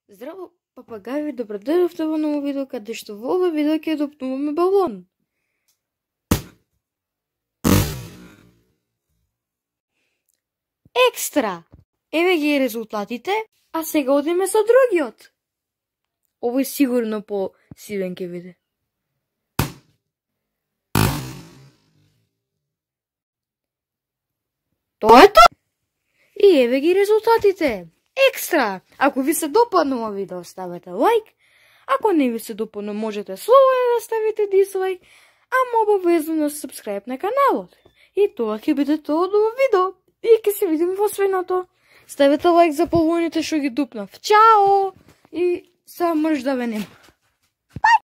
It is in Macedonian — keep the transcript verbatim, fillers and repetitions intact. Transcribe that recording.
Здраво, папагаји, добро дојдовте во ново видео, каде што во ова видео ќе допнуваме балон. Екстра! Еве ги резултатите, а сега одиме со другиот. Овој сигурно по сивен ќе биде. Тоа е тоа! И еве ги резултатите. Екстра! Ако ви се допадна ова видео, ставете лайк. Ако не ви се допадна, можете слободно да ставите дислайк, ама обавезно сабскрајб на каналот. И тоа ќе биде тоа од ова видео. И ќе се видиме во следното. Ставете лайк за балоните што ги дупнав. Чао! И сега мрш да ве нема.